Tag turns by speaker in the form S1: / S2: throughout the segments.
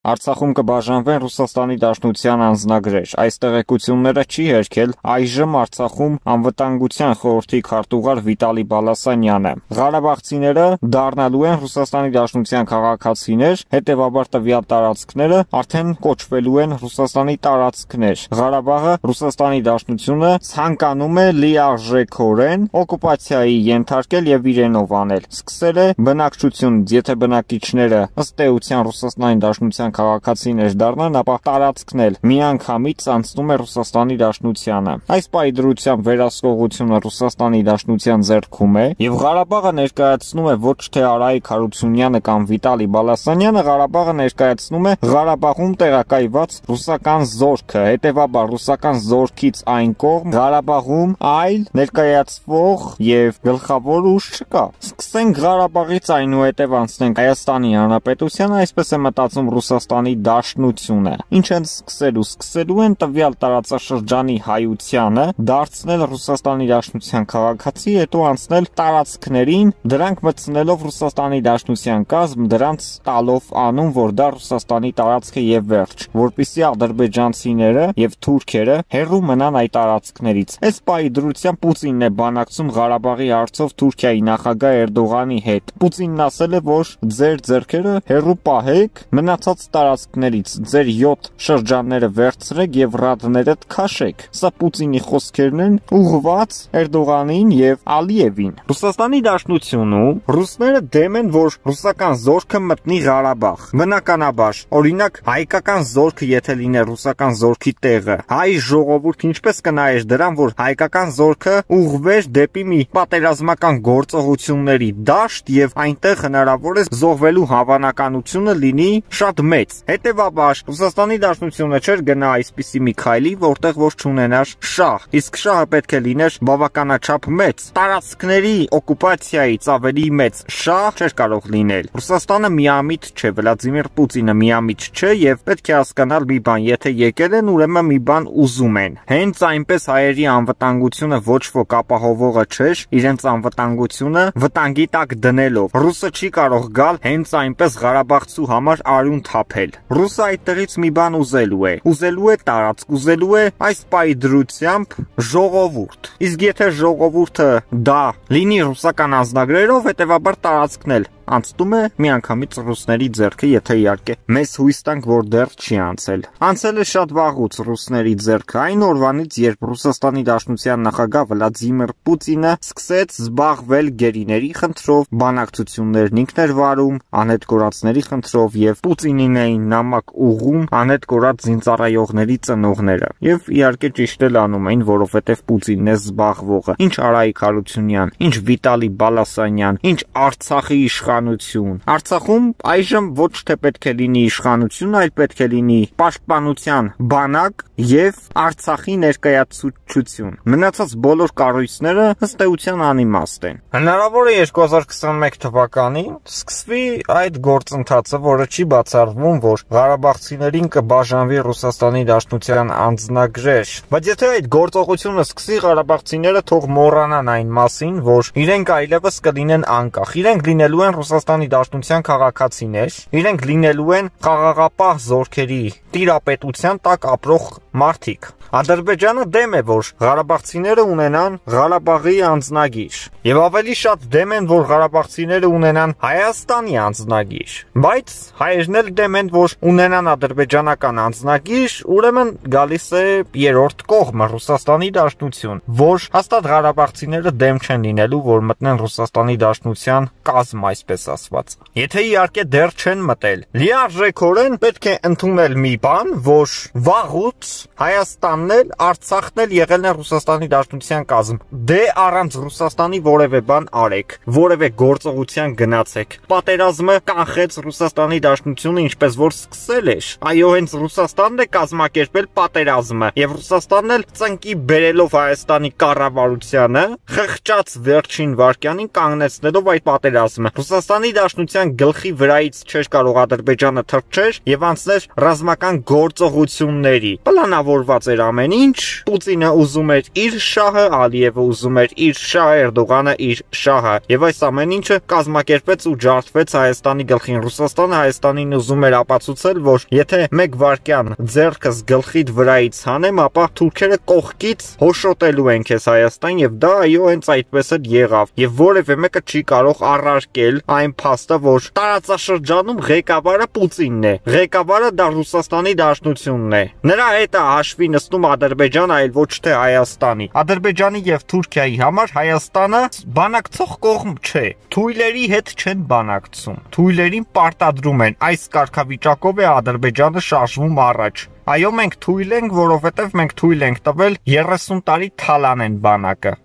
S1: Արցախում կբաժանվեն Ռուսաստանի Դաշնության անձնագրեր։ Այս տեղեկությունները չի հերքել այժմ Արցախում անվտանգության խորհրդի քարտուղար Վիտալի Բալասանյանը։ Ղարաբաղցիները դառնալու են Ռուսաստանի Դաշնության քաղաքացիներ, հետևաբար տվյալ տարածքները արդեն կոչվելու են Ռուսաստանի տարածքներ։ Ղարաբաղը Ռուսաստանի Դաշնությունը ցանկանում է լիարժեքորեն օկուպացիայի ենթարկել եւ իրենով անել։ Սկսել է բնակչությունից, եթե բնակիչները ըստ էության Ռուսաստանի Դաշնության քաղաքացիներ դառնան, ապա տարածքնել միանգամից անցնում է Ռուսաստանի Դաշնությանը։ Այս պայդրությամբ վերահսկողությունը Ռուսաստանի Դաշնության ձեռքում է եւ Ղարաբաղը ներկայացնում է ոչ թե Արայիկ Հարությունյանը կամ Վիտալի Բալասանյանը, Ղարաբաղը ներկայացնում է Ղարաբաղում տեղակայված ռուսական զորքը, հետեւաբար ռուսական զորքից այն կողմ Ղարաբաղում այլ ներկայացվող եւ գլխավոր ուժ չկա։ Սկսենք Ղարաբաղից, այնուհետև անցնենք Հայաստանի Հանրապետությանը, այսպես է մտածում Ռուսաստանի Դաշնությունը։ Ինչ են սկսելու են տվյալ տարածաշրջանի հայությանը դարձնել Ռուսաստանի Դաշնության քաղաքացի, հետո անցնել տարածքներին, դրանք մտցնելով Ռուսաստանի Դաշնության կազմ, դրանց տալով անուն, որ դա Ռուսաստանի տարածք է եւ վերջ, որպեսզի ադրբեջանցիները եւ թուրքերը հեռու մնան այդ տարածքներից։ Այս պայդրությամբ Պուտինն է բանակցում Ղարաբաղի հարցով Թուրքիայի նախագահ Էրդողանի հետ։ Պուտինն ասել է, որ ձեր ձեռքերը հեռու պահեք մնացած տարածքներից, ձեր 7 շրջանները վերցրեք եւ ռադներդ քաշեք։ Սա Պուտինի խոսքերն են ուղղված Էրդողանին եւ Ալիևին։ Ռուսաստանի Դաշնությունում ռուսները դեմ են, որ ռուսական զորքը մտնի Ղարաբաղ։ Բնականաբար, օրինակ հայկական զորքը եթե լիներ ռուսական զորքի տեղը, հայ ժողովուրդը ինչպես կնայեր դրան, որ հայկական զորքը ուղղվեր դեպի մի պատերազմական գործողությունների դաշտ եւ այնտեղ հնարավոր է զոհվելու հավանականությունը լինի շատ մեծ։ Հետևաբար Ռուսաստանի Դաշնությունը չէր գնա այսպիսի մի քայլի, որտեղ որ չունենար շահ, իսկ շահը պետք է լիներ բավականաչափ մեծ։ Տարածքների օկուպացիայից ավելի մեծ շահ չէր կարող լինել։ Ռուսաստանը միամիտ չէ, Վլադիմիր Պուտինը միամիտ չէ եւ պետք է հասկանալ մի բան, եթե եկել են, ուրեմն մի բան ուզում են։ Հենց այնպես հայերի անվտանգությունը ոչ ոք ապահովողը չէր, իրենց անվտանգությունը վտանգի տակ դնելով։ Ռուսը չի կարող գալ հենց այնպես Ղարաբաղցու համար արյուն թափել։ Ռուսը այդտեղից մի բան ուզելու է տարածք, ուզելու է այս պայդրությամբ ժողովուրդ։ Իսկ եթե ժողովուրդը դա լինի ռուսական անձնագրերով, հետևաբար տարածքն էլ անցնում է միանգամից ռուսների ձեռքը, եթե իհարկե մեզ հույս տանք, որ դեռ չի անցել։ Անցել է շատ վաղուց ռուսների ձեռքը, այն օրվանից, երբ Ռուսաստանի Դաշնության նախագահ Վլադիմիր Պուտինը սկսեց զբաղվել գերիների խնդրով, բանակցություններն ինքն էր վարում, անհետ կորածների խնդրով եւ Պուտինին էին նամակ ուղղում անհետ կորած զինծառայողների ծնողները։ Եվ իհարկե ճիշտ էլ անում էին, որովհետեւ Պուտինն է զբաղվողը։ Ինչ Արայիկ Հարությունյան, ինչ Վիտալի Բալասանյան, ինչ Արցախի իշխանություն։ Արցախում այժմ ոչ թե պետք է լինի իշխանություն, այլ պետք է լինի պաշտպանության բանակ եւ Արցախի ներկայացուցչություն։ Մնացած բոլոր կառույցները ըստ էության անիմաստ են։ Հնարավոր է 2021 թվականին սկսվի այդ գործընթացը, որը չի բացառվում, որ ղարաբաղցիներին կբաժանվի Ռուսաստանի Դաշնության անձնագրեր։ Բայց եթե այդ գործողությունը սկսի, ղարաբաղցիները թող մոռանան այն մասին, որ իրենք այլևս կլինեն անկախ։ Իրենք լինելու են Ռուսաստանի Դաշնության քաղաքացիներ, իրենք լինելու են խաղաղապահ զորքերի տիրապետության տակ ապրող մարդիկ։ Ադրբեջանը դեմ է, որ ղարաբաղցիները ունենան Ղարաբաղի անձնագիր, եւ ավելի շատ դեմ են, որ ղարաբաղցիները ունենան Հայաստանի անձնագիր, բայց հայերն էլ դեմ են, որ ունենան ադրբեջանական անձնագիր, ուրեմն գալիս է երրորդ կողմը Ռուսաստանի Դաշնություն, որ հաստատ ղարաբաղցիները դեմ չեն լինելու, որ մտնեն Ռուսաստանի Դաշնության կազմ, այսպես ասված։ Եթե իհարկե դեռ չեն մտել, լիարժեքորեն պետք է ընդունել մի բան, որ վաղուց Հայաստանն էլ, Արցախն էլ եղել են Ռուսաստանի Դաշնության կազմ։ Դե առանց Ռուսաստանի որևէ բան արեք, որևէ գործողության գնացեք։ Պատերազմը կանխեց Ռուսաստանի Դաշնությունը, ինչպես որ սկսել էր։ Այո, հենց Ռուսաստանն է կազմակերպել պատերազմը, եւ Ռուսաստանն էլ ծնկի բերելով Հայաստանի կառավարությանը, խղճաց վերջին վայրկյանին կանգնեցնելով այդ պատերազմը։ Ռուսաստանի Դաշնության գլխի վրայից չէր կարող Ադրբեջանը թռչեր եւ անցներ ռազմական ռազմական գործողությունների։ Պլանավորված էր ամեն ինչ, Պուտինը ուզում էր իր շահը, Ալիևը ուզում էր իր շահը, Էրդողանը իր շահը, եւ այս ամեն ինչը կազմակերպեց ու ջարդվեց Հայաստանի գլխին։ Ռուսաստանը Հայաստանին ուզում էր ապացուցել, որ եթե մեկ վայրկյան ձեռքս գլխիդ վրայից հանեմ, ապա թուրքերը կողքից հոշոտելու են քեզ Հայաստան, եւ դա այո հենց այդպես էլ եղավ, եւ որևէ մեկը չի կարող առարկել այն փաստը, որ տարածաշրջանում ղեկավարը Պուտինն է, ղեկավարը դա Ռուսաստանի Դաշնությունն է, նրա հետ է հաշվի նստում Ադրբեջանը, այլ ոչ թե Հայաստանի։ Ադրբեջանի եւ Թուրքիայի համար Հայաստանը բանակցող կողմ չէ, թույլերի հետ չեն բանակցում, թույլերին պարտադրում են, այս կարգավիճակով է Ադրբեջանը շարժվում առաջ։ Այո, մենք թույլ ենք, որովհետև մենք թույլ ենք տվել 30 տարի թալանեն բանակը։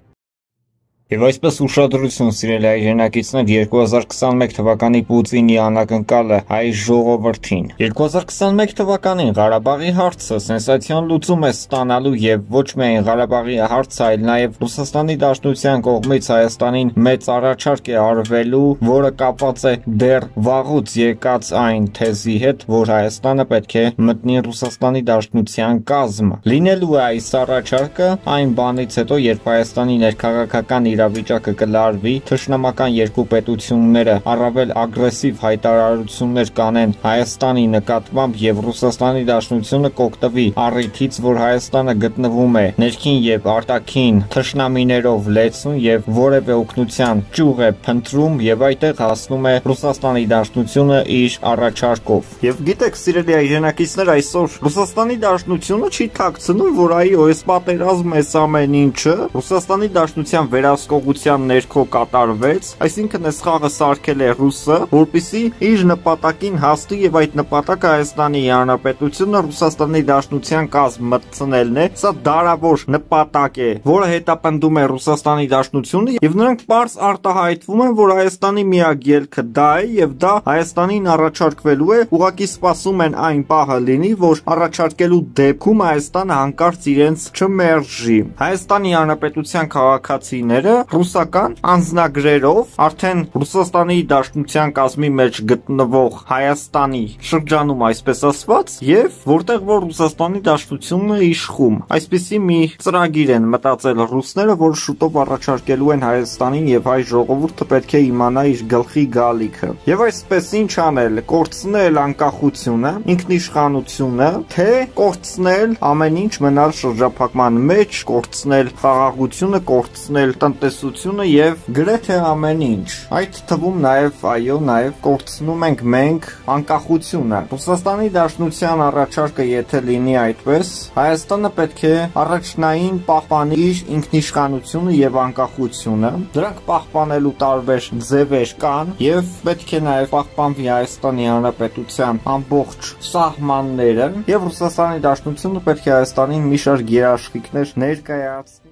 S1: Եվ այսպես ուշադրություն, սիրելի հայրենակիցներ, 2021 թվականի Պուտինի անակնկալը հայ ժողովրդին։ 2021 թվականին Ղարաբաղի հարցը սենսացիոն լուծում է ստանալու եւ ոչ միայն Ղարաբաղի հարցը, այլ նաեւ Ռուսաստանի Դաշնության կողմից Հայաստանին մեծ առաջարկ է արվելու, որը կապված է դեռ վաղուց եկած այն թեզի հետ, որ Հայաստանը պետք է մտնի Ռուսաստանի Դաշնության կազմ։ Լինելու է այս առաջարկը այն բանից հետո, երբ Հայաստանի ներքաղաքական իրավիճակը կլարվի, թշնամական երկու պետությունները առավել ագրեսիվ հայտարարություններ կանեն Հայաստանի նկատմամբ եւ Ռուսաստանի Դաշնությունը կօգտվի առիթից, որ Հայաստանը գտնվում է ներքին եւ արտաքին թշնամիներով լեցուն եւ որևէ օգնության ճյուղ է փնտրում եւ այդտեղ հասնում է Ռուսաստանի Դաշնությունը իր առաջարկով։ Եվ գիտեք, սիրելի հայրենակիցներ, այսօր Ռուսաստանի Դաշնությունը չի թաքցնում, որ այո, այս պատերազմը, այս ամեն ինչը Ռուսաստանի Դաշնության վերահսկողության ներքո կատարվեց, այսինքն այս խաղը սարքել է ռուսը, որպեսզի իր նպատակին հասնի եւ այդ նպատակը Հայաստանի Հանրապետությունը Ռուսաստանի Դաշնության կազմ մտցնելն է։ Սա դարավոր նպատակ է, որը հետապնդում է Ռուսաստանի Դաշնությունը եւ նրանք պարզ արտահայտվում են, որ Հայաստանի միակ ելքը դա է եւ դա Հայաստանին առաջարկվելու է, ուղղակի սպասում են այն պահը լինի, որ առաջարկելու դեպքում Հայաստանը հանկարծ իրենց չմերժի։ Հայաստանի Հանրապետության քաղաքացիները ռուսական անձնագրերով արդեն Ռուսաստանի Դաշնության կազմի մեջ գտնվող Հայաստանի շրջանում, այսպես ասված, եւ որտեղ որ Ռուսաստանի Դաշնությունն է իշխում, այսպիսի մի ծրագիր են մտածել ռուսները, որ շուտով առաջարկելու են Հայաստանին եւ հայ ժողովուրդը պետք է իմանա իր գլխի գալիքը։ Եվ այսպես ինչ անել, կորցնել անկախությունը, ինքնիշխանությունը, թե կորցնել ամեն ինչ, մնալ շրջափակման մեջ, կորցնել խաղաղությունը, կորցնել տնտեսությունը եւ գրեթե ամեն ինչ։ Այդ թվում նաեւ այո, նաեւ կորցնում ենք մենք անկախությունը։ Ռուսաստանի Դաշնության առաջարկը եթե լինի այդպես, Հայաստանը պետք է առաջնային պահպանի իր ինքնիշխանությունը եւ անկախությունը։ Դրանք պահպանելու տարբեր ձևեր կան եւ պետք է նաեւ պահպանվի Հայաստանի Հանրապետության ամբողջ սահմանները եւ Ռուսաստանի Դաշնությունը պետք է Հայաստանին մի շարք երաշխիքներ ներկայացնի։